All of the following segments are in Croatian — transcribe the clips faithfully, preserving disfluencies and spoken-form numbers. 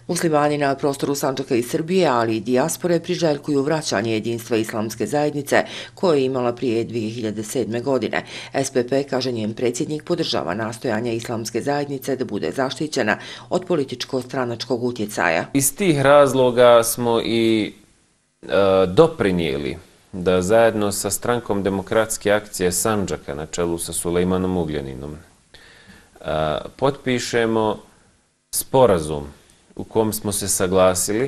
Muslimani na prostoru Sandžaka i Srbije, ali i dijaspore priželjkuju vraćanje jedinstva islamske zajednice koje je imala prije dvije hiljade sedme. godine. S P P, kaže njen predsjednik, podržava nastojanja islamske zajednice da bude zaštićena od političko-stranačkog utjecaja. Iz tih razloga smo i e, doprinijeli da zajedno sa Strankom demokratske akcije Sandžaka na čelu sa Sulejmanom Ugljaninom e, potpišemo sporazum u kom smo se saglasili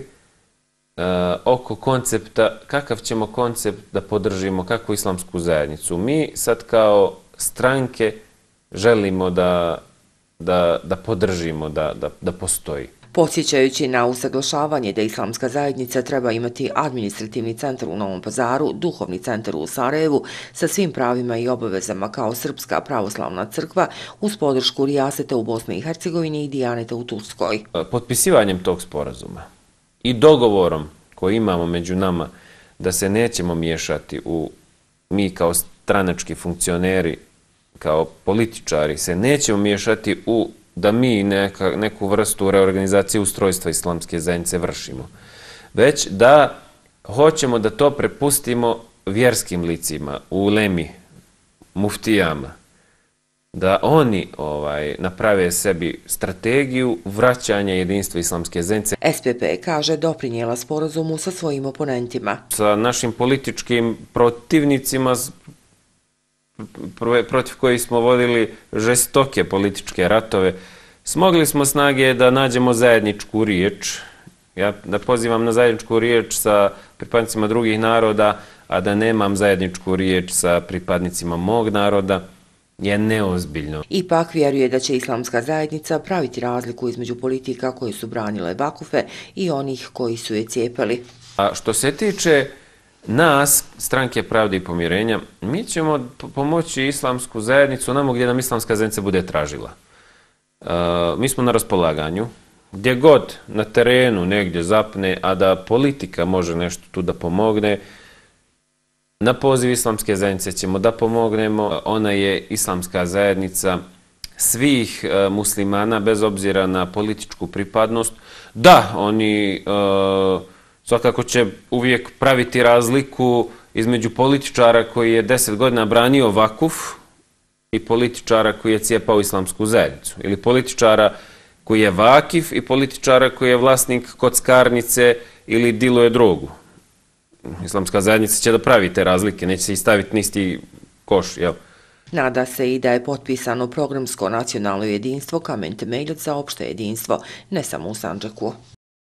uh, oko koncepta, kakav ćemo koncept da podržimo, kakvu islamsku zajednicu. Mi sad kao stranke želimo da, da, da podržimo, da, da, da postoji. Podsjećajući na usaglašavanje da islamska zajednica treba imati administrativni centar u Novom Pazaru, duhovni centar u Sarajevu sa svim pravima i obavezama kao Srpska pravoslavna crkva uz podršku Rijaseta u Bosni i Hercegovini i Dijaneta u Turskoj. Potpisivanjem tog sporazuma i dogovorom koji imamo među nama da se nećemo miješati u, mi kao stranački funkcioneri, kao političari, se nećemo miješati u da mi neka, neku vrstu reorganizacije ustrojstva islamske zajednice vršimo, već da hoćemo da to prepustimo vjerskim licima, ulemi, muftijama, da oni ovaj, naprave sebi strategiju vraćanja jedinstva islamske zajednice. S P P, kaže, doprinijela sporazumu sa svojim oponentima. Sa našim političkim protivnicima protiv kojih smo vodili žestoke političke ratove, smogli smo snage da nađemo zajedničku riječ. Ja da pozivam na zajedničku riječ sa pripadnicima drugih naroda, a da nemam zajedničku riječ sa pripadnicima mog naroda, je neozbiljno. Ipak vjeruje da će islamska zajednica praviti razliku između politika koje su branile vakufe i onih koji su je cijepali. A što se tiče nas, Stranke pravde i pomirenja, mi ćemo pomoći islamsku zajednicu onamo gdje nam islamska zajednica bude tražila. Uh, mi smo na raspolaganju, gdje god na terenu negdje zapne, a da politika može nešto tu da pomogne, na poziv islamske zajednice ćemo da pomognemo. Ona je islamska zajednica svih uh, muslimana, bez obzira na političku pripadnost. Da, oni uh, svakako će uvijek praviti razliku između političara koji je deset godina branio vakuf i političara koji je cijepao islamsku zajednicu. Ili političara koji je vakif i političara koji je vlasnik kockarnice ili diluje drogu. Islamska zajednica će da pravi te razlike, neće se i staviti nisti koš, jel? Nada se i da je potpisano programsko nacionalno jedinstvo kamen temeljac za opšte jedinstvo, ne samo u Sandžaku.